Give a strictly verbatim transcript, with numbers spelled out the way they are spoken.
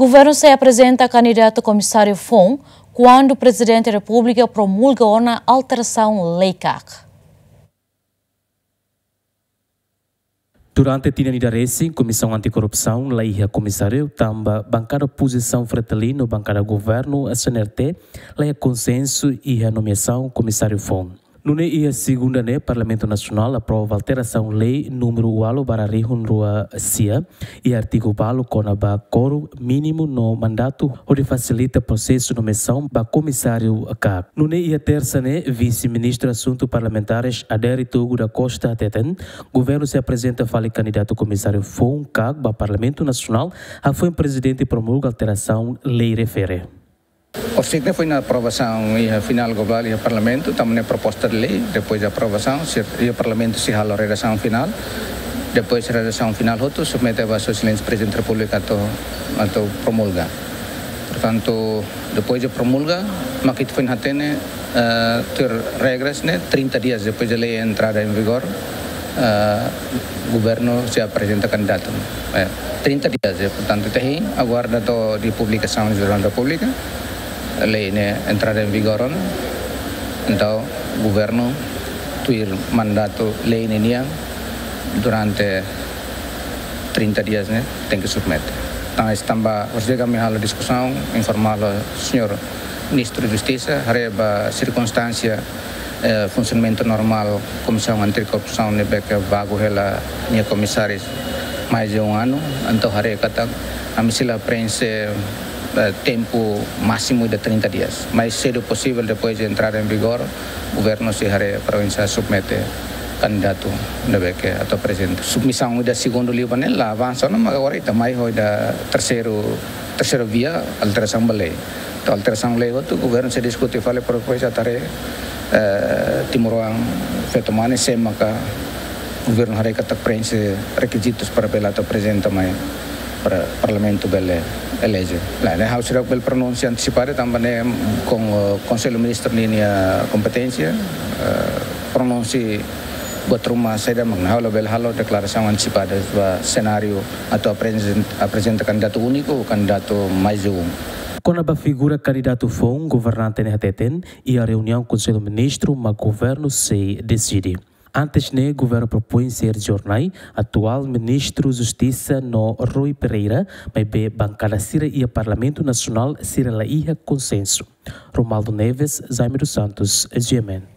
Governu sei aprezenta kandidatu komisáriu foun kuandu Prezidente Repúblika promulga ona alterasaun lei kak. Durante tinan ida resin, Komisaun Antikorrupsaun la iha komisáriu tanba bankada opozisaun Fretilin no bankada governu S N R T la iha konsensu iha nomeasaun komisáriu foun. Nune'e iha segunda ne'e, Parlamentu Nasionál aprova alterasaun lei númeru ualu barra rihun rua sia, iha artigu balu kona-ba kórum mínimu no mandatu, hodi fasilita prosesu nomeasaun ba komisáriu kak. Nune'e iha tersa ne'e, Vise-Ministru Asuntu Parlamentares Adérito Rui da Costa hateten, governu sei aprezenta fali kandidatu komisáriu foun kak ba Parlamentu Nasionál, hafoin Prezidente promulga alterasaun lei refere. Orsida ne'e foin aprovasaun iha finál globál iha Parlamentu, tanba ne'e proposta de lei, depois de aprovasaun, sei, iha Parlamentu sei halo redasaun finál, depois redasaun finál hotu submete ba Sua Exelénsia Prezidente Repúblika atu, atu promulga. Portantu, depois de promulga, mak ita foin hatene, eh, tuir regras ne'e, trinta dias depois de lei entrada em vigor, eh, governu sei aprezenta kandidatu. Eh, trinta dias, eh, portantu, ita hein aguarda to'o publikasaun iha Jornál da Repúblika, lei ne'e entrada em vigor ona. Entaun, governu tuir mandatu lei ne'e nian durante trinta dias ne'e tenke submete. Tan tanba, orsida ami halo diskusaun, informa hela Señór Ministru Justisa, haree ba sirkunstánsia, eh, funsionamentu normál Komisaun Antikorrupsaun ne'ebé ke vagu hela nia komisáriu mais de um ano, entaun haree katak ami sei la preenxe, eh, tempu másimu de trinta dias. Mais sedu posivel, depois de entrada em vigor, governu sei haree para oinsá submete kandidatu ne'ebé ke atu aprezenta. Submisaun ida segundu liu ba ne'e la avansa ona, mak agora ita mai ho ida terseiru, terseira via, alterasaun ba lei. Entaun alterasaun lei hotu, governu sei diskute fali para depois atu haree, eh, timoroan feto mane sé maka governu haree katak preenxe rekizitus para bele atu aprezenta mai para Parlamentu bele eleje. Lae, ne'e ha'u seidauk bele pronunsia antesipada tanba ne'e kon, eh, Konsellu Ministru ninia kompeténsia, eh, pronunsia buat ruma saida mak ne'e, ha'u labele halo deklarasaun antesipada ba senáriu atu aprezent-, aprezenta kandidatu úniku, kandidatu mais de um. Kona-ba figura kandidatu foun, governante ne'e hateten, iha reuniaun Konsellu Ministru mak governu sei deside. Antes ne'e, governu propoin Sérgio Hornai, atuál Ministru Justisa, no Rui Pereira, maibé bankada sira iha Parlamentu Nasionál sira la iha konsensu. Romualdo Neves, Jaime dos Santos, G M N.